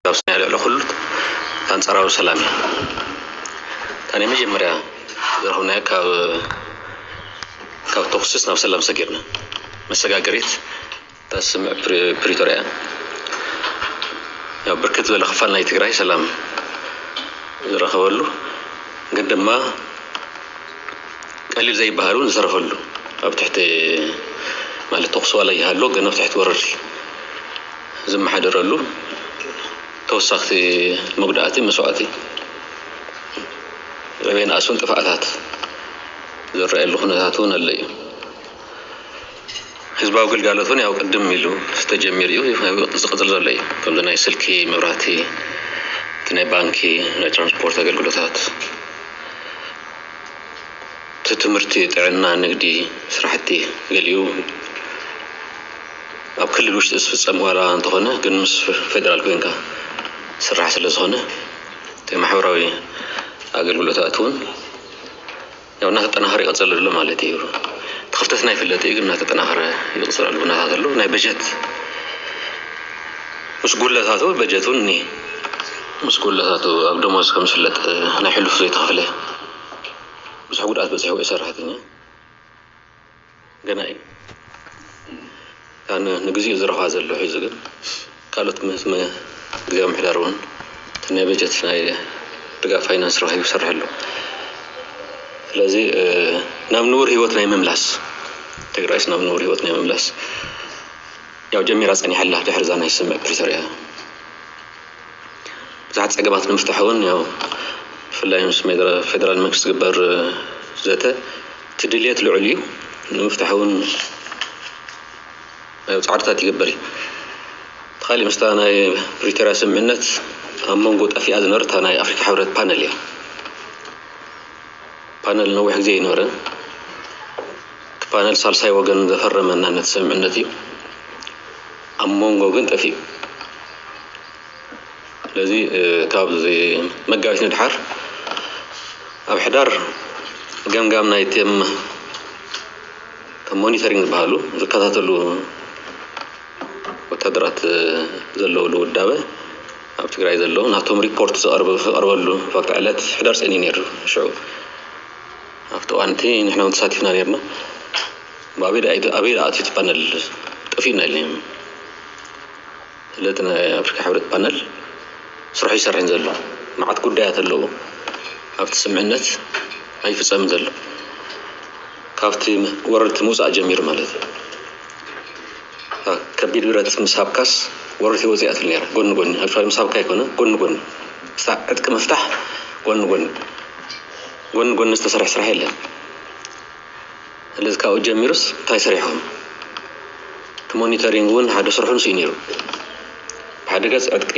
ኣብ ናይ ልዕሊ ኩሉ ኣንጻራዊ ሰላም እዩ። እታ ናይ መጀመርያ ዝረኸብናዮ ካብ ካብ ተኹስስ ናብ ሰላም ሰጊርና መሰጋገሪት እታ ስምምዕ ፕሪ- ፕሪቶርያ እያ። ያው ብርክት ዝበለ ክፋል ናይ ትግራይ ሰላም ዝረኸበሉ ግን ድማ ቀሊል ዘይበሃል እውን ዝተረፈሉ ኣብ ትሕቲ ማለት ተኹሲ ዋላ ይሃሎ ግን ኣብ ትሕቲ ወረርቲ ዝመሓደረሉ ተወሳኽቲ መጉዳእቲ መስዋእቲ ዕቤን ኣስውን ጥፍኣታት ዝረኣየሉ ኩነታት እውን ኣሎ እዩ። ህዝባዊ ግልጋሎት እውን ያው ቅድም ኢሉ ዝተጀሚሩ እዩ ዝቕፅል ዘሎ እዩ። ከምዚ ናይ ስልኪ፣ መብራህቲ፣ እቲ ናይ ባንኪ፣ ናይ ትራንስፖርት ኣገልግሎታት፣ እቲ ትምህርቲ፣ ጥዕና፣ ንግዲ፣ ስራሕቲ ገሊኡ ኣብ ክልል ውሽጢ ዝፍፀም ዋላ እንተኾነ ግን ምስ ፌደራል ኮይንካ ስራሕ ስለ ዝኾነ እቲ ማሕበራዊ ኣገልግሎታት እውን ያው እናተጠናኸረ ይቐፅል ኣሎ ማለት እዩ። እቲ ክፍተትና ይፍለጥ እዩ ግን እናተጠናኸረ ይቕፅል ኣሎ ኩነታት ኣሎ። ናይ በጀት ምስ ጉድለታቱ በጀት እውን እኒሀ ምስ ጉድለታቱ ኣብ ደሞዝ ከም ዝፍለጥ ናይ ሕሉፍ ዘይተኸፍለ ብዙሕ ጉድኣት በፂሕዎ እዩ ሰራሕተኛ ገና እዩ። ኣነ ንግዚኡ ዝረኽባ ዘሎ ሒዙ ግን ካልኦት ምስ ግዜ ምሕዳር እውን እቲ ናይ በጀት ናይ ድጋፍ ፋይናንስ ረኺቡ ይሰርሕ ኣሎ። ስለዚ ናብ ንቡር ህይወት ናይ ምምላስ ትግራይስ ናብ ንቡር ህይወት ናይ ምምላስ ያው ጀሚራ ፀኒሓላ ድሕሪ እዛ ናይ ስምምዕ ፕሪቶርያ ብዙሓት ፀገማት ንምፍታሕ እውን ያው ብፍላይ ምስ ሜድረ- ፌደራል መንግስቲ ዝግበር ዘተ እቲ ድልየት ልዑል እዩ ንምፍታሕ እውን ያው ፃዕርታት ይግበር እዩ። ተኻሊ ምስታ ናይ ፕሪቶርያ ስምምዕነት ኣብ መንጎ ጠፊኣ ዝነበረት እታ ናይ ኣፍሪካ ሕብረት ፓነል እያ። ፓነል ነዊሕ ግዜ ይነበረ እቲ ፓነል ሳልሳይ ወገን ዘፈረመ ናነት ስምምዕነት እዩ። ኣብ መንጎ ግን ጠፊኡ ስለዚ ካብ መጋቢት ንድሓር ኣብ ሕዳር ገምጋም ናይ ቴም ሞኒተሪንግ ዝበሃሉ ዝከታተሉ ወታደራት ዘለውሉ ውዳበ ኣብ ትግራይ ዘለዉ ናቶም ሪፖርት ዝቐርበሉ ፋክት ዕለት ሕዳር ፀኒ ነይሩ ሽዑ ኣብቲ እዋንቲ ንሕና እውን ተሳቲፍና ነርና ኣበይ ኣትዩ ፓነል ጠፊኡና ኢለ ስለቲ ናይ ኣፍሪካ ሕብረት ፓነል ስርሑ ይሰርሕን ዘሎ መዓት ጉዳያት ኣለዉ ኣብቲ ስምዕነት ኣይፍፀምን ዘሎ ካብቲ ወረርቲ ምውፃእ ጀሚሩ ማለት እዩ ከቢድ ብረት ምስ ሃብካስ ወረርቲ ወፂኣትል ነራ ጎኒ ጎኒ ኣክቹዋሊ ምስ ሃብካ ኣይኮነ ጎኒ ጎኒ ዕጥቂ ምፍታሕ ጎኒ ጎኒ ጎኒ ጎኒ ዝተሰርሐ ስራሕ የለን ስለዚ ካብኡ ጀሚሩስ እንታይ ሰሪሕኹም እቲ ሞኒተሪንግ እውን ሓደ ስርሑ ንስኡ ነይሩ ብሓደ ገፅ ዕጥቂ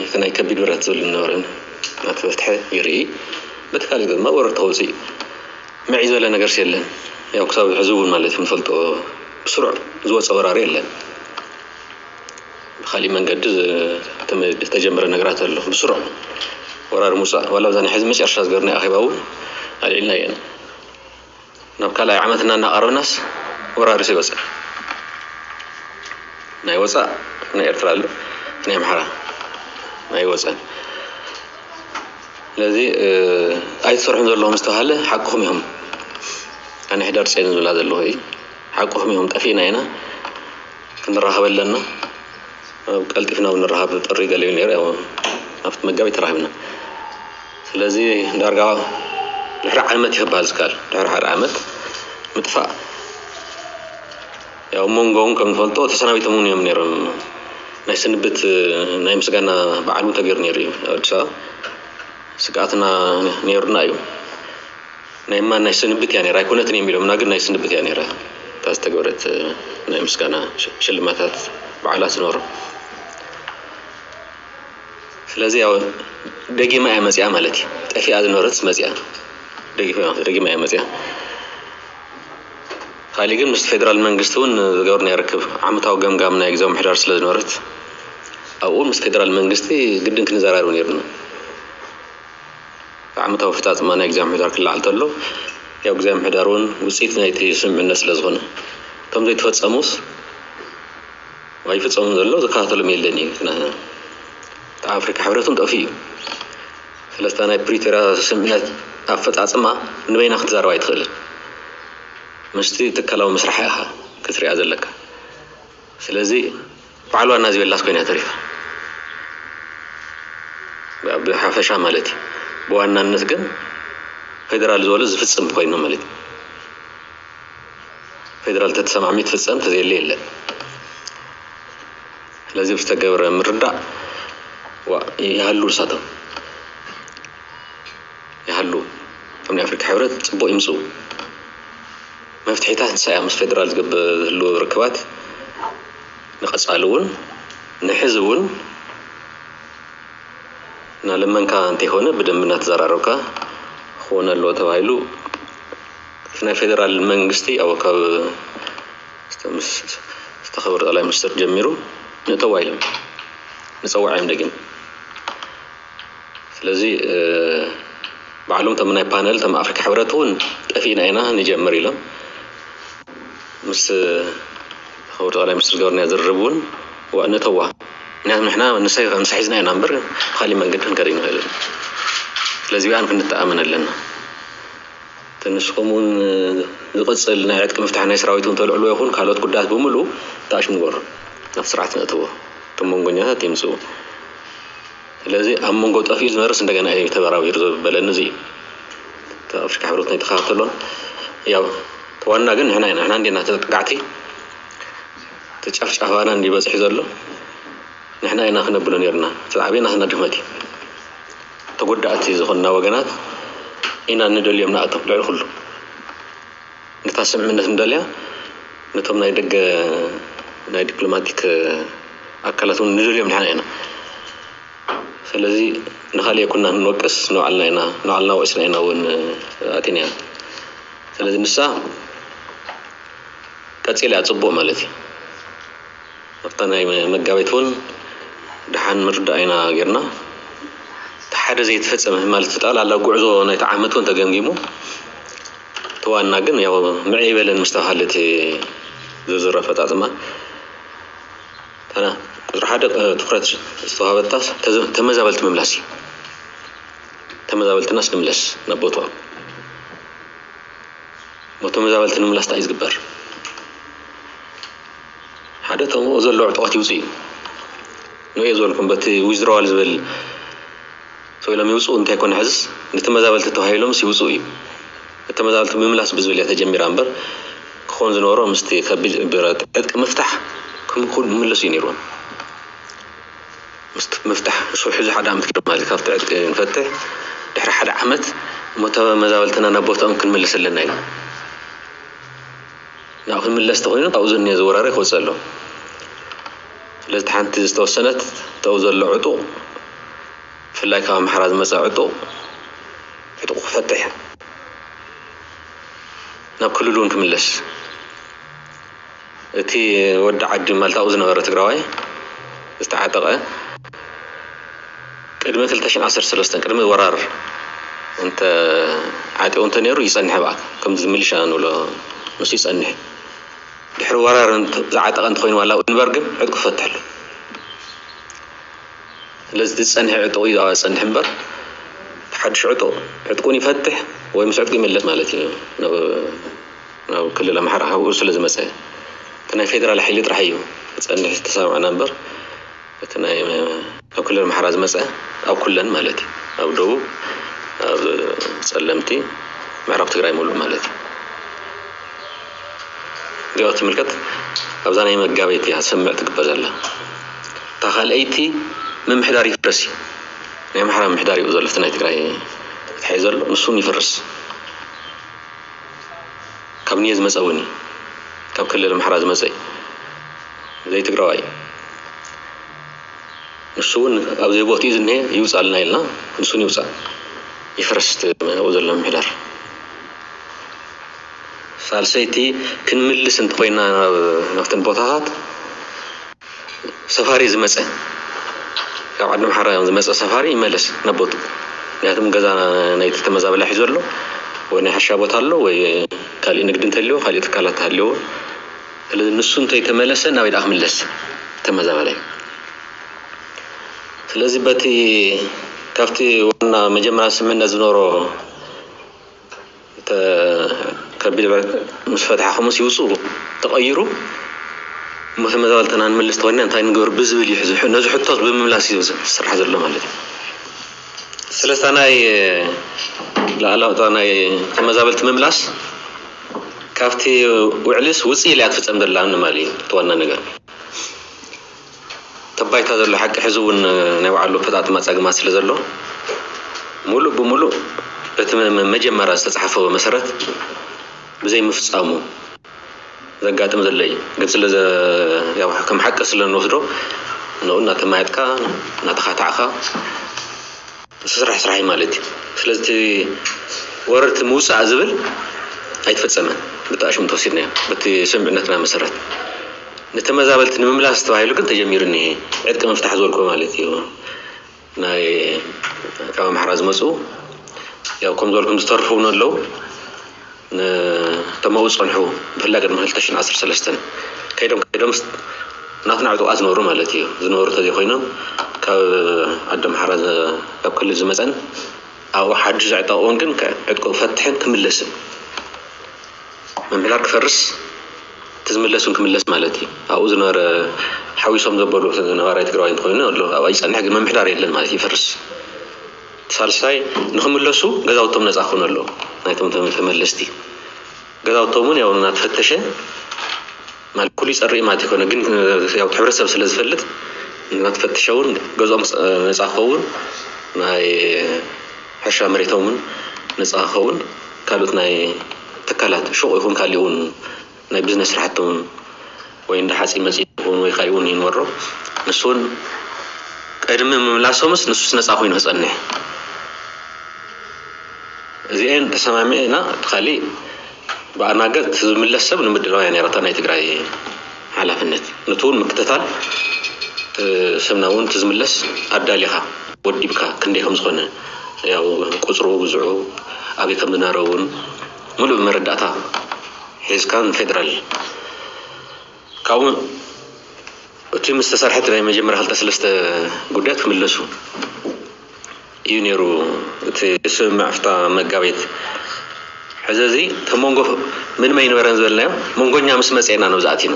እቲ ናይ ከቢድ ብረት ዝብል ዝነበረ እናተፈትሐ ይርኢ በቲ ካልእ ገፅ ድማ ወረርቲ ከውፅእ ምዕይ ዝበለ ነገርስ የለን ያው ክሳብ ሕዚ እውን ማለት እዩ ንፈልጦ ብስሩዕ ዝወፀ ወራሪ የለን ብካሊእ መንገዲ ዝተጀመረ ነገራት ኣሎ ብስሩዕ ወራሪ ሙፃእ ዋላ ብዛ ናይ ሕዚ መጨረሻ ዝገርና ኣኼባ እውን ኣልዒልና የን ናብ ካልኣይ ዓመትና እናቐረብናስ ወራሪስ ይወፅእ ናይ ወፃእ ናይ ኤርትራ ኣሎ ናይ ኣምሓራ ናይ ወፀን ስለዚ ኣይትሰርሑን ዘለኹም ዝተባሃለ ሓቅኹም ኢኹም ኣነ ሕዳር ፅዮን ዝብላ ዘለኹ እዩ ሓቅኹም ኢኹም ጠፊእና ኢና ክንራኸብ ኣለና ቀልጢፍና ንራኸብ ጥሪ ገሊኡ ነይሩ ኣብቲ መጋቢት ተራኺብና ስለዚ ዳርጋ ድሕሪ ዓመት ይክበሃል ዝካል ድሕሪ ሓደ ዓመት ምጥፋእ ያው መንጎ እውን ከም ንፈልጦ ተሰናቢቶም እውን እዮም ነይሮም ናይ ስንብት ናይ ምስጋና በዓል እውን ተገይሩ ነይሩ እዩ ኣብ ኣዲስ ኣበባ ስግኣትና ነይሩና እዩ ናይ ማን ናይ ስንብት እያ ነይራ ኣይኮነትን እዮም ኢሎምና ግን ናይ ስንብት እያ ነይራ እታ ዝተገበረት ናይ ምስጋና ሽልማታት በዓላት ዝነበሩ ስለዚ ያው ደጊማ እያ መፅያ ማለት እዩ ጠፊኣ ዝነበረት መፅያ ደጊማ እያ መፅያ ካሊእ ግን ምስ ፌደራል መንግስቲ እውን ዝገበርናዮ ርክብ ዓመታዊ ገምጋም ናይ ግዜ ምሕዳር ስለ ዝነበረት ኣብኡ ምስ ፌደራል መንግስቲ ግድን ክንዘራረብ ነይሩና ዓመታዊ ኣፈፃፅማ ናይ ግዜ ምሕዳር ክለዓል ተሎ ያው ግዜ ምሕዳር እውን ውፅኢት ናይቲ ስምምዕነት ስለ ዝኾነ እቶም ዘይተፈፀሙስ ኣይፍፀሙን ዘሎ ዝከታተሎም የለን እዩ እቲ ኣፍሪካ ሕብረት እውን ጠፊኡ እዩ። ስለስታ ናይ ፕሪቶርያ ስምምዕነት ኣፈፃፅማ ንበይና ክትዛረብ ኣይትኽእልን። ምስቲ ትካላዊ ምስራሕ ኢኻ ክትሪኣ ዘለካ። ስለዚ በዓል ዋና ዝበላስ ኮይና ተሪፋ ብሓፈሻ ማለት እዩ። ብዋናነት ግን ፌደራል ዝበሎ ዝፍፅም ኮይኑ ማለት እዩ። ፌደራል ተተሰማዕሚ ትፍፀም ተዘየለ የለን። ስለዚ ብዝተገብረ ምርዳእ ይሃሉ እሳቶም ይሃሉ ከም ናይ ኣፍሪካ ሕብረት ፅቡቅ ይምፅኡ። መፍትሒታት ንሳ እያ ምስ ፌደራል ዝግበር ዝህልዎ ርክባት ንቐፃሊ እውን ንሕዚ እውን እናለመንካ እንተይኮነ ብደንቢ እናተዘራረብካ ክኾን ኣለዎ ተባሂሉ እቲ ናይ ፌደራል መንግስቲ ኣብ ካብ ዝተኸበሩ ጠቅላይ ሚኒስትር ጀሚሩ ንእተዋ ኢሎም ንፀዋዕ እዮም ደጊም። ስለዚ ባዕሎም ተም ናይ ፓነል ተም ኣፍሪካ ሕብረት እውን ጠፊእና ኢና ንጀምር ኢሎም ምስ ተኸበሩ ጠቅላይ ሚኒስትር ዝገበርና ዝርርብ እውን ንእተዋ። ምክንያቱ ንሕና ንሳ ሒዝና ኢና እምበር ብካሊእ መንገዲ ክንከድ ንኽእል። ስለዚ ብኣን ክንተኣመን ኣለና። ተንስኹም እውን ዝቕፅል ናይ ዕጥቂ ምፍታሕ ናይ ሰራዊት እውን ተልዕሉ ይኹን ካልኦት ጉዳያት ብምሉ ተኣሽ ንገሩ ናብ ስርዓት ነእትዎ። እቶም መንጎኛታት ይምፅኡ። ስለዚ ኣብ መንጎ ጠፊኡ ዝነበርስ እንደገና እዩ ተበራቢሩ ዝበለኒ እዚ እዩ። ኣፍሪካ ሕብረት ናይ ተኸታተሎን ያው ተዋና ግን ንሕና ኢና ንሕና እንዲና ተጠቃዕቲ ተጨፍጫፋና እንዲበፅሒ ዘሎ ንሕና ኢና ክነብሎ ነርና። እቲ ዓብና ስና ድኽመት እዩ። ተጎዳእቲ ዝኾንና ወገናት ኢና ንደልዮም ንኣቶም ልዕሊ ኩሉ ነታ ስምምነት ንደልያ ነቶም ናይ ደገ ናይ ዲፕሎማቲክ ኣካላት እውን ንደልዮም ንሕና ኢና። ስለዚ ንካሊእ ኩና ንወቅስ ንባዕልና ኢና ንባዕልና ወቂስና ኢና እውን ኣቲና። ስለዚ ንሳ ቀፂላ እያ ፅቡቅ ማለት እዩ። ኣብታ ናይ መጋቢት እውን ደሓን ምርዳእ ኢና ጌርና። እቲ ሓደ ዘይተፈፀመ ማለት ጠቕላላ ጉዕዞ ናይቲ ዓመት እውን ተገምጊሙ እቲ ዋና ግን ያው ምዕይ በለን ምስተባሃለ እቲ ዝርዝር ኣፈፃፅማ ቁፅሪ ሓደ ትኩረት ዝተዋሃበታ ተመዛበልቲ ምምላስ እዩ። ተመዛበልትናስ ንምለስ ናብ ቦትኦም። ሞ ተመዛበልቲ ንምምላስ እንታይ እዩ ዝግበር? ሓደ ተምኡ ዘሎ ዕጡቋት ይውፁ እዩ። ንየ ዝበልኩም በቲ ዊዝድሮዋል ዝብል ሰው ኢሎም ይውፅኡ እንታይ ኮነ ሕዝስ ንተመዛበልቲ ተባሂሎምስ ይውፅኡ እዩ። ተመዛበልቲ ምምላስ ብዝብል እያ ተጀሚራ እምበር ክኾን ዝነበሮ ምስቲ ከቢድ ብረት ዕጥቂ ምፍታሕ ክምኩን ምለሱ እዩ ነይርዎም። ምስቲ ምፍታሕ ንሱ ሕዚ ሓደ ዓመት ኪሎ ማለት ካብቲ ዕጥቂ ንፈትሕ ድሕሪ ሓደ ዓመት እሞ ተመዛበልትና ናብ ቦታኦም ክንምልስ ኣለና ኢና። ናብ ክንምለስ ተኮይኑ ካብኡ ዘኒዮ ዝወራሪ ክወፅእ ኣሎ። ስለዚ ሓንቲ ዝተወሰነት ተው ዘሎ ዕጡቕ ብፍላይ ካብ ኣምሓራ ዝመፀ ዕጡቕ ዕጡቕ ክፈትሕ ናብ ክልሉ እውን ክምለስ እቲ ወዲ ዓዲ ማልታኡ ዝነበረ ትግራዋይ ዝተዓጠቐ ቅድሚ ክልተ ሽሕን ዓሰርተ ሰለስተን ቅድሚ ወራር እንተ ዓጢቑ እንተ ነይሩ ይጸንሕ ብኣካ ከምዚ ሚሊሻ ንብሎ ንሱ ይጸንሕ ድሕሪ ወራር ዝዓጠቐ እንተኮይኑ ዋላ ንበር ግን ዕጥቁ ፈትሐሉ ስለዚ ዝጸንሐ ዕጥቁ እዩ ዝጸንሕ እምበር ሓድሽ ዕጥቁ ዕጥቁን ይፈትሕ ወይ ምስ ዕጥቁ ይመለስ ማለት እዩ ናብ ክልል ኣምሓራ ካብኡ ስለ ዝመፀ እቲ ናይ ፌደራል ሓይሊ ጥራሕ እዩ ክፀንሕ ዝተሰማዕና እምበር እቲ ናይ ኣብ ክልል ኣምሓራ ዝመፀ ኣብ ኩለን ማለት እዩ ኣብ ደቡብ ኣብ ፀለምቲ ምዕራብ ትግራይ ሙሉእ ማለት እዩ እዚኣ ትምልከት ኣብዛ ናይ መጋበይቲ እያ ሰምዕ ትግበር ዘላ እታ ካልኣይቲ ምምሕዳር ይፍረስ እዩ ናይ ኣምሓራ ምምሕዳር እዩ ዘሎ ናይ ትግራይ ተታሒ ዘሎ ንሱን ይፍርስ ካብ ንየ ዝመፀ እውን ካብ ክልል ኣምሓራ ዝመፀ እዩ ዘይትግራዋይ እዩ ንሱ እውን ኣብ ዘይቦትኡ ዝኒሀ ይውፃልና ኢልና ንሱን ይውፃእ ይፍረስ ኣብኡ ዘሎ ምምሕዳር ሳልሰይቲ ክንምልስ እንተኮይና ናብተን ቦታታት ሰፋሪ ዝመፀ ካብ ዓዲ ኣምሓራ ዝመፀ ሰፋሪ ይመለስ ናብ ቦትኡ ምክንያቱም ገዛ ናይቲ ተመዛበላይ ሒዙ ኣሎ ወይ ናይ ሕርሻ ቦታ ኣሎ ወይ ካሊእ ንግዲ እንተልዎ ካሊእ ትካላት ተሃልዎ ስለዚ ንሱ እንተይተመለሰ ናበይ ደኣ ክምለስ ተመዛበላይ ስለዚ በቲ ካብቲ ዋና መጀመርያ ስምምነት ዝነበሮ ከቢድ ምስ ፈትሓኹምስ ይውፅኡ ተቐይሩ፣ እሞ ተመዛበልትና ንምልስ ተኾይና እንታይ ንገብር ብዝብል እዩ። ነዚ ሕቶት ብምምላስ እዩ ዝስራሕ ዘሎ ማለት እዩ። ስለስታ ናይ ላዕላውታ ናይ ተመዛበልቲ ምምላስ ካብቲ ውዕልስ ውፅእ ኢላ እያ ትፍፀም ዘላ ንማል እዩ እቲ ዋና ነገር። ተባይታ ዘሎ ሓቂ ሕዚ እውን ናይ ባዕሉ ፈጣጥማ ፀግማት ስለ ዘሎ፣ ሙሉእ ብሙሉእ በቲ መጀመርያ ዝተፃሓፈ መሰረት ብዘይምፍፃሙ ዘጋጥም ዘሎ እዩ። ግን ስለ ከም ሓቂ ስለ ንወስዶ ንኡ እናተማየጥካ እናተኻታዕካ ስራሕ ስራሕ እዩ ማለት እዩ። ስለዚ ወረርቲ ምውፃእ ዝብል ኣይተፈፀመን። ብጣዕሽም ተወሲድናዮ በቲ ስምምዕነትና መሰረት ንተመዛበልቲ ንምምላስ ተባሂሉ ግን ተጀሚሩ እኒሄ ዕጥቂ ምፍታሕ ዝበልኩ ማለት እዩ። ናይ ካብ ኣምሓራ ዝመፁ ያው ከም ዝበልኩም ዝተርፉ እውን ኣለዉ። ንተመኡ ዝፀንሑ ብፍላይ ቅድሚ ክልተ ሽሕን ዓሰርተ ሰለስተን ከይዶም ከይዶም ናትና ዕጡቓት ዝነበሩ ማለት እዩ። ዝነበሩ ተዘይኮይኖም ካብ ዓዲ ኣምሓራ ካብ ክልል ዝመፀን ኣብኡ ሓድሽ ዘዕጠቕዎን ግን ዕጥቁ ክፈትሕን ክምለስን ምምሕዳር ክፈርስ እቲ ዝምለስ እውን ክምለስ ማለት እዩ። ኣብኡ ዝነበረ ሓዊሶም ዘበሉ ነባራይ ትግራዋይ እንተኮይኑ ኣሎ ኣብኣ ይፀንሕ፣ ግን ምምሕዳር የለን ማለት ይፈርስ። ሳልሳይ ንክምለሱ ገዛውቶም ነፃ ክኾኑ ኣለዎ። ናይቶም ተመለስቲ ገዛውቶም እውን ያው እናተፈተሸ ማለት ኩሉ ይፀርእ ማለት ይኮነ፣ ግን ያው ሕብረተሰብ ስለ ዝፈልጥ እናተፈተሸ እውን ገዝኦም ነፃ ክኸውን ናይ ሕርሻ መሬቶም እውን ነፃ ክኸውን ካልኦት ናይ ትካላት ሹቕ ይኹን ካሊእ እውን ናይ ቢዝነስ ስራሕቲ እውን ወይ እንዳ ሓፂን መፂን ይኹን ወይ ካሊእ እውን ይንበሮ ንሱ እውን ቅድሚ ምምላሶምስ ንሱስ ነፃ ኮይኑ ክፀንሕ እዚኤን ተሰማሚዕና እቲ ካሊእ ብኣናገር ዝምለስ ሰብ ንምድላው እያ ነይራታ ናይ ትግራይ ሓላፍነት። ነቲ እውን ምክትታል ስምና እውን እቲ ዝምለስ ኣዳሊኻ ወዲብካ ክንደይ ከም ዝኾነ ያው ቁፅሩ ብዝዑ ኣበይ ከም ዝነበረ እውን ሙሉእ መረዳእታ ሒዝካ ንፌደራል ካብኡ እቲ ምስ ተሰርሐት ናይ መጀመርያ ክልተ ሰለስተ ጉዳያት ክምለሱ እዩ ነይሩ እቲ ስምምዕ ፍታ መጋቤት። ሕዚ እዚ ከም መንጎ ምንም ኣይነበረን ዝበልናዮ መንጎኛ ምስ መፅኤና ነው ዝኣቲና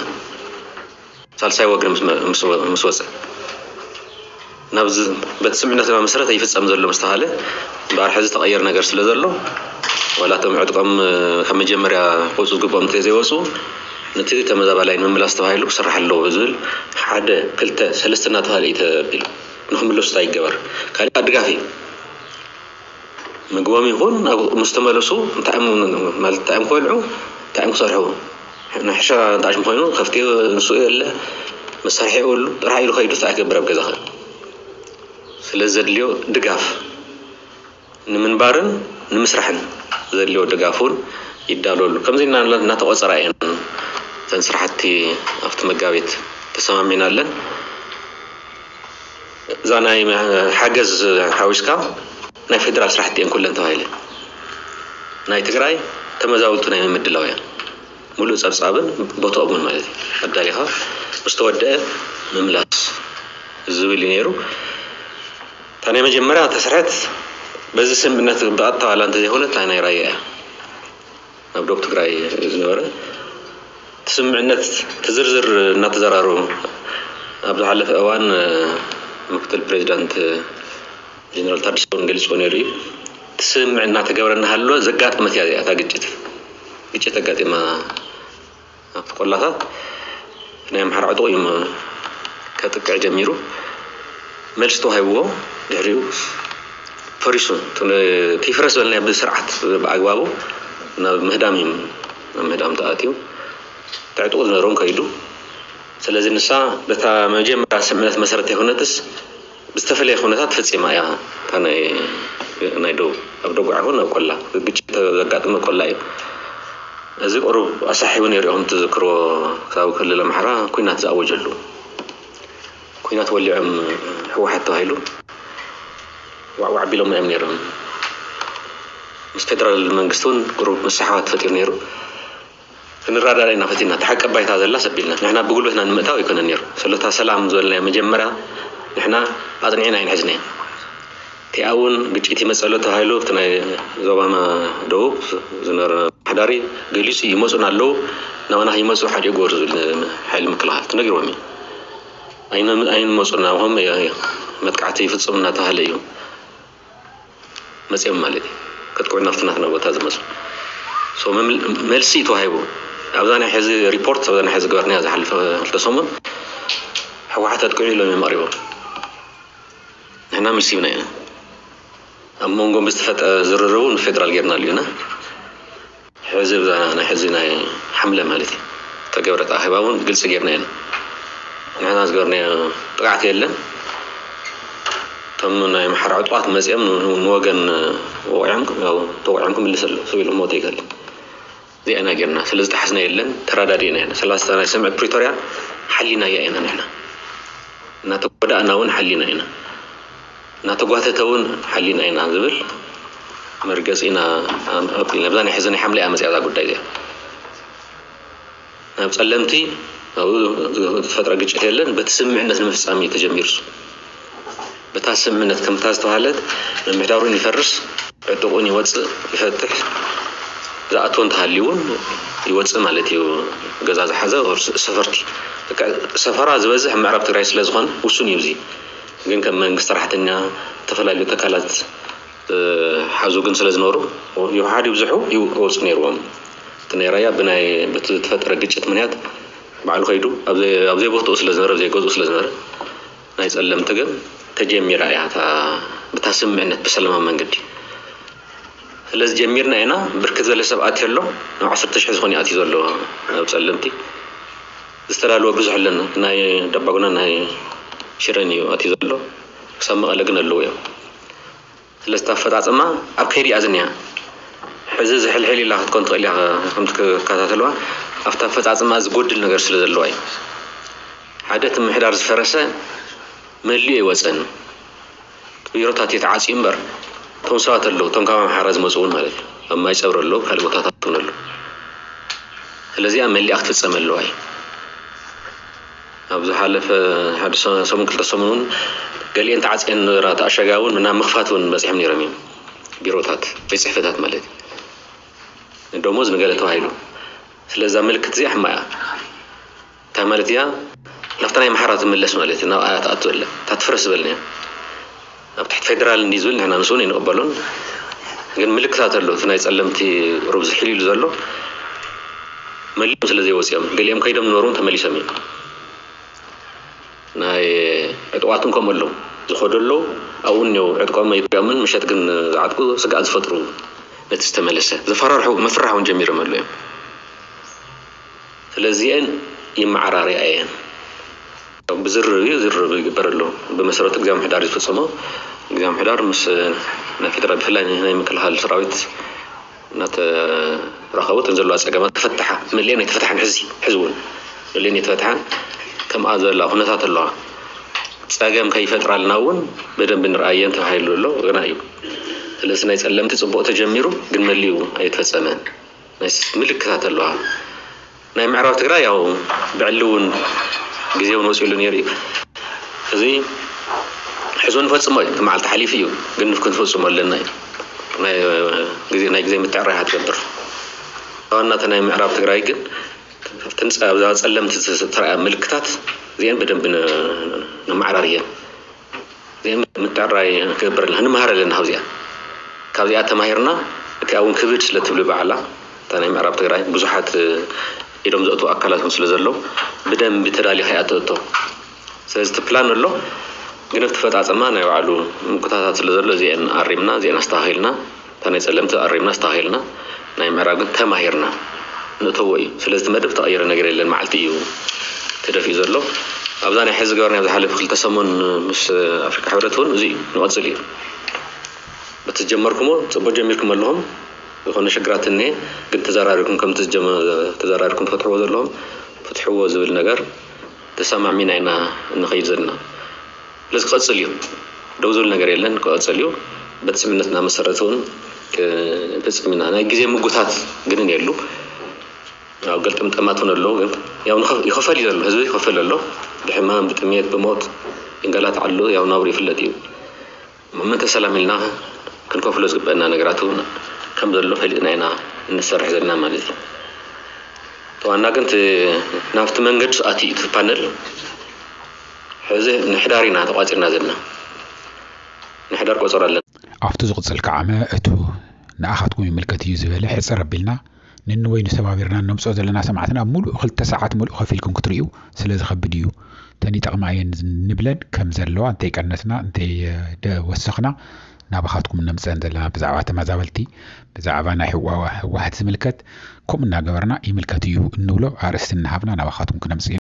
ሳልሳይ ወግን ምስ ወፀ ናብዚ በቲ ስምምዕነትና መሰረት ኣይፍፀም ዘሎ ምስ ተባሃለ እምበኣር ሕዚ ተቐየር ነገር ስለ ዘሎ ዋላ እቶም ዕጥቆም ካብ መጀመርያ ክወፁ ዝግብኦም እንተዘይወፁ ነቲ ተመዛባላይ ንምምላስ ተባሂሉ ክስራሕ ኣለዎ ዝብል ሓደ ክልተ ሰለስተ እናተባሃለ እዩ ተቢሉ ንክምለሱ እንታይ ይገበር ካሊእ ድጋፍ እዩ ምግቦም ይኹን ምስ ተመለሱ እንታይ እዮም ክበልዑ እንታይ እዮም ክሰርሑ ናይ ሕርሻ ጣዕሽም ኮይኑ ከፍቲ ንሱ የለ መሳርሒ የብሉ ጥራሕ ኢሉ ከይዱ እንታይ ክገብር ኣብ ገዛ ስለ ዘድልዮ ድጋፍ ንምንባርን ንምስራሕን ዘድልዮ ድጋፍ እውን ይዳለሉ ከምዚ እናተቆፀራ እየን እተን ስራሕቲ ኣብቲ መጋቤት ተሰማሚዕና ኣለን እዛ ናይ ሓገዝ ሓዊስካ ናይ ፌደራል ስራሕቲ እየን ኩለን ተባሂለን ናይ ትግራይ ተመዛበልቱ ናይ ምምድላው እያ ሙሉእ ፀብፃብን ቦትኦምን ማለት እዩ ኣዳሊኻ ምስ ተወደአ ምምላስ ዝብል እዩ ነይሩ እታ ናይ መጀመርያ ተስርሐት በዚ ስምምዕነት ብቐጥታ ዋላ እንተዘይኮነ እታ ናይ ራያ እያ ናብ ደቡብ ትግራይ ዝነበረ እቲ ስምምዕነት እቲ ዝርዝር እናተዘራረቡ ኣብ ዝሓለፈ እዋን ምክትል ፕሬዚዳንት ጀነራል ታደሰ እውን ገሊፅዎ ነይሩ እዩ እቲ ስምምዕ እናተገበረ እናሃለወ ዘጋጠመት እያ እዚኣ እታ ግጭት ግጭት ኣጋጢማ ኣብቲ ቆላታት ናይ ኣምሓራ ዕጡቕ እዩ ከጥቅዕ ጀሚሩ መልሲ ተዋሂብዎ ድሕሪኡ ፈሪሱ እቲ ይፍረስ ዝበልናዮ ብስርዓት ብኣግባቡ ናብ ምህዳም እዩ ናብ ምህዳም ተኣትዩ እቲ ዕጡቕ ዝነበሮም ከይዱ ስለዚ ንሳ በታ መጀመርያ ስምምዕነት መሰረት ኣይኮነትስ ብዝተፈለየ ኩነታት ተፈፂማ እያ እታ ናይ ናይ ደቡብ ኣብ ደጉዓ ይኹን ኣብ ቆላ ግጭት ዘጋጥመ ቆላ እዩ እዚ ቁሩብ ኣሳሒቡ ነይሩ ኢኹም ትዝክርዎ ክሳብ ክልል ኣምሓራ ኩናት ዝኣወጀሉ ኩናት ወሊዖም ህወሓት ተባሂሉ ዋዕዋዕ ቢሎም እዮም ነይሮም ምስ ፌደራል መንግስቲ እውን ቁሩብ ምስሕሓባት ተፈጢሩ ነይሩ ክንረዳዳ ኢና ፈቲና። እታ ሓቂ ባይታ ዘላ ሰቢልና ንሕና ብጉልበትና ንምእታው ኣይኮነን ነይሩ። ስለታ ሰላም ዝበልናዮ መጀመርያ ንሕና ኣጽኒዕና ኣይንሕዝናዮ። እቲኣ እውን ግጭት ይመጸሎ ተባሂሉ ኣብቲ ናይ ዞባና ደቡብ ዝነበረ ምምሕዳር ገሊጹ፣ ይመጹና ኣለዉ፣ ናባና ይመጹ ሓዲኡ ግበሩ ዝብል ሓይሊ ምክልኻል ተነጊርዎም እዩ። ኣይን- ኣይንመጹን ናባኹም መጥቃዕቲ ይፍጽሙ እናተባሃለ እዩ መጺኦም ማለት እዩ። ከጥቅዑ ናብቲ ናትና ቦታ ዝመጹ። So መም- መልሲ እዩ ተዋሂቡ። ኣብዛ ናይ ሕዚ ሪፖርት፣ ኣብዛ ናይ ሕዚ ገበርናያ ዝሓለፈ ክልተ ሰሙን ህወሓት ኣጥቅዑ ኢሎም እዮም ኣቕሪቦም። ንሕና መልሲ ሂብና ኢና። ኣብ መንጎ ብዝተፈጠረ ዝርርቡ ንፌደራል ጌርና ኣልዩና። ሕዚ ብዛ ናይ ሕዚ ናይ ሓምለ ማለት እዩ ተገብረት ኣኼባ እውን ግልፂ ጌርና ኢና። ንሕና ዝገበርናዮ ጥቃዕቲ የለን። እቶም ናይ ኣምሓራ ዕጡቓት መፂኦም ንወገን ወቂዖም፣ ያው ተወቂዖም ክምልስ ኣሎ፣ ሰብ ኢሉ ሞተ ይከል። እዚኣ ኢና ጌርና። ስለ ዝጠሓስና የለን፣ ተረዳዲእና ኢና። ሰላሳ ናይ ስምዒት ፕሪቶርያ ሓሊናያ ኢና ንሕና። እናተጎዳእና እውን ሓሊና ኢና። እናተጓተተ እውን ሓሊና ኢና ዝብል መርገፂ ኢና ኣቢልና። ብዛ ናይ ሕዚ ናይ ሓምለ እያ መፅያ እዛ ጉዳይ እዚኣ። ናብ ጸለምቲ ኣብኡ ዝተፈጥረ ግጭት የለን። በቲ ስምምዕነት ንምፍጻም እዩ ተጀሚሩ። እሱ በታ ስምምዕነት ከምታ ዝተባህለት ምምሕዳሩን ይፈርስ፣ ዕጡቑን ይወጽእ፣ ይፈትሕ፣ ዝኣትዎ እንተሃልዩ እውን ይወጽእ ማለት እዩ። ገዛ ዝሓዘ or ሰፈርቲ፣ በቃ ሰፈራ ዝበዝሕ ኣብ ምዕራብ ትግራይ ስለ ዝኾነ ውሱን እዩ። እዚ ግን ከም መንግስቲ ሰራሕተኛ፣ ዝተፈላለዩ ትካላት ሓዙ ግን ስለ ዝነበሩ፣ ይውሓድ ይብዝሑ ይወፁ ነይርዎም። እቲ ናይ ራያ ብናይ በቲ ዝተፈጠረ ግጭት ምክንያት ባዕሉ ከይዱ ኣብ ዘይ- ኣብ ዘይቦትኡ ስለ ዝነበረ፣ ኣብ ዘይገዝኡ ስለ ዝነበረ፣ ናይ ጸለምቲ ግን ተጀሚራ እያ እታ ብታ ስምምዕነት ብሰላማዊ መንገዲ። ስለዚ ጀሚርና ኢና። ብርክት ዝበለ ሰብ ኣትዩ ኣሎ። ናብ ዓሰርተ ሽሕ ዝኾን እዩ ኣትዩ ዘሎ ኣብ ጸለምቲ። ዝተዳለወ ብዙሕ ኣለና። ናይ ዳባጉና ናይ ሽረን እዩ ኣትዩ ዘሎ። ክሳብ መቐለ ግን ኣለዉ እዮም። ስለዚ ኣፈፃፅማ ኣብ ከይዲ እያ ዝኒሃ። ሕዚ ዝሕልሕል ኢላ ክትኮን ትኽእል እያ፣ ከምቲ ክከታተልዋ ኣብቲ ኣፈፃፅማ ዝጎድል ነገር ስለ ዘለዋ እዩ። ሓደ እቲ ምምሕዳር ዝፈረሰ መሊኡ ኣይወፀን። ቢሮታት እዩ ተዓፅዩ እምበር እቶም ሰባት ኣለዉ፣ እቶም ካብ ኣምሓራ ዝመፁ እውን ማለት እዩ። ኣብ ማይ ፀብሪ ኣለዉ፣ ካልእ ቦታታት እውን ኣለዉ። ስለዚኣ መሊኣ ክትፍፀም ኣለዋ እዩ። ኣብ ዝሓለፈ ሓደ ሰ- ሰሙን ክልተ ሰሙን እውን ገሊአን ተዓፅየን ነበራ፣ ተኣሸጋ እውን ናብ ምኽፋት እውን በፂሖም ነይሮም እዮም። ቢሮታት፣ ቤት ፅሕፈታት ማለት እዩ። ደሞዝ ንገለ ተባሂሉ። ስለዛ ምልክት እዚኣ ሕማያ እንታይ ማለት እያ? ናብታ ናይ ኣምሓራ ትምለስ ማለት እዩ። ናብ ኣያ ትኣቱ ኣለ እታ ትፍረስ ዝበልናያ ኣብ ትሕቲ ፌደራል እንዲ ዝብል ንሕና ንስኡን ይንቕበሉን። ግን ምልክታት ኣሎ። እቲ ናይ ጸለምቲ ሩብ ዝሕል ኢሉ ዘሎ መሊኦም ስለ ዘይወፂኦም ገሊኦም ከይዶም ነበሩ ተመሊሶም እዮም። ናይ ዕጥቋትን ከምኡ ኣለዉ ዝኸዱ ኣለዉ። ኣብኡ እኒው ዕጥቆም ኣይሪኦምን ምሸት ግን ዝዓጥቁ ስግኣት ዝፈጥሩ ነቲ ዝተመለሰ ዘፈራርሑ መፍራሕ እውን ጀሚሮም ኣለዉ እዮም። ስለዚአን ይመዓራርያ እየን። ብዝርርብ እዩ ዝርርብ ይግበር ኣሎ። ብመሰረቱ እግዚኣብሔር ምሕዳር ዝፍፅሞ እግዚኣብሔር ምሕዳር ምስ ናይ ፌደራል ብፍላይ ናይ ምክልኻል ሰራዊት እናተራኸቡ እተን ዘለዋ ፀገማት ተፈትሓ መሊአን ኣይተፈትሓን። ሕዚ ሕዚ እውን መሊአን ኣይተፈትሓን። ከምኣ ዘላ ኩነታት ኣለዋ። ፀገም ከይፈጥራልና እውን በደንብ ንርኣየን ተባሂሉ ኣሎ ግና እዩ። ስለዚ ናይ ፀለምቲ ፅቡቕ ተጀሚሩ ግን መሊኡ ኣይተፈፀመን። ናይ ምልክታት ኣለዋ። ናይ ምዕራብ ትግራይ ያው ብዕሊ እውን ግዜ እውን ወፂሉ ነይሩ እዩ። እዚ ሕዚ እውን ፈፅሞ እዩ። እቲ መዓልቲ ሓሊፉ እዩ ግን ክንፈፅሞ ኣለና እዩ። ናይ ግዜ ናይ ግዜ ምትዕራይ ክትገብር ዋናተ ናይ ምዕራብ ትግራይ ግን ትንፃ ኣብዛ ፀለምቲ ዝተረኣያ ምልክታት እዚአን ብደንብ ነማዕራር እየን። እዚአን ምትዕራይ ክገብር ኣለና ክንመሃር ኣለና ካብዚኣ። ካብዚኣ ተማሂርና እቲኣ እውን ክብድ ስለ ትብሉ ባዕላ እታ ናይ ምዕራብ ትግራይ ብዙሓት ኢዶም ዘእትዉ ኣካላት እውን ስለ ዘለዉ ብደንቢ ተዳሊኻ እያ ተእቶ። ስለዚ እቲ ፕላን ኣሎ ግን ኣብቲ ፈፃፅማ ናይ ባዕሉ ምጉታታት ስለ ዘሎ እዚአን ኣሪምና እዚአን ኣስተኻኺልና እታ ናይ ፀለምቲ ኣሪምና ኣስተኻኺልና ናይ ምዕራብ ግን ተማሂርና ንእተዎ እዩ። ስለዚ እቲ መደብ ተቐየረ ነገር የለን መዓልቲ እዩ ተደፊኡ ዘሎ። ኣብዛ ናይ ሕዚ ገበርና ኣብ ዝሓለፈ ክልተ ሰሙን ምስ ኣፍሪካ ሕብረት እውን እዚ እዩ ንቐፅል እዩ። በቲ ዝጀመርኩሞ ፅቡቅ ጀሚርኩም ኣለኹም። ዝኾነ ሽግራት እኒሀ ግን ተዘራሪብኩም ከምቲ ዝጀመ- ተዘራሪብኩም ትፈትሕዎ ዘለኹም ፍትሕዎ ዝብል ነገር ተሰማዕሚና ኢና እንኸይድ ዘለና። ስለዚ ክቐፅል እዩ። ደው ዝብል ነገር የለን፣ ክቐፅል እዩ። በቲ ስምምነት እናመሰረተ እውን ክንፍፅም ኢና። ናይ ግዜ ምጉታት ግን የሉ። ያው ገልጥምጠማት እውን ኣለዉ ግን ያው ንኸ- ይኸፈል እዩ ዘሎ ህዝቢ ይኸፈል ኣሎ ብሕማም ብጥሜት ብሞት ክንገላትዓሉ ያው ናብሩ ይፍለጥ እዩ። ምእንተ ሰላም ኢልና ክንከፍሎ ዝግበአና ነገራት እውን ከም ዘሎ ፈሊጥና ኢና እንሰርሕ ዘለና ማለት እዩ። ተዋና ግን እቲ ናብቲ መንገዲ ኣትዩ እቲ ፓነል ሕዚ ንሕዳር ኢና ተቋፂርና ዘለና። ንሕዳር ቆፀሮ ኣለና። ኣብቲ ዝቕፅል ከዓመ እቱ ንኣኻትኩም ይምልከት እዩ ዝበለ ሕፅር ኣቢልና ንንወይ ንሰባቢርና ነምፅኦ ዘለና ሰማዕትና ሙሉእ ክልተ ሰዓት ሙሉእ ከፊልኩም ክትርእዩ ስለ ዝኸብድ እዩ። ተን ይጠቕማ እየን ንብለን ከም ዘለዋ እንተይቀነስና እንተይወሰኽና ናባኻትኩም ነምፅአን ዘለና ብዛዕባ ተመዛበልቲ ብዛዕባ ናይ ህዋ- ህወሓት ዝምልከት ከምኡ እናገበርና ይምልከት እዩ እንብሎ ኣርእስቲ እናሃብና ናባኻትኩም ክነምፅእ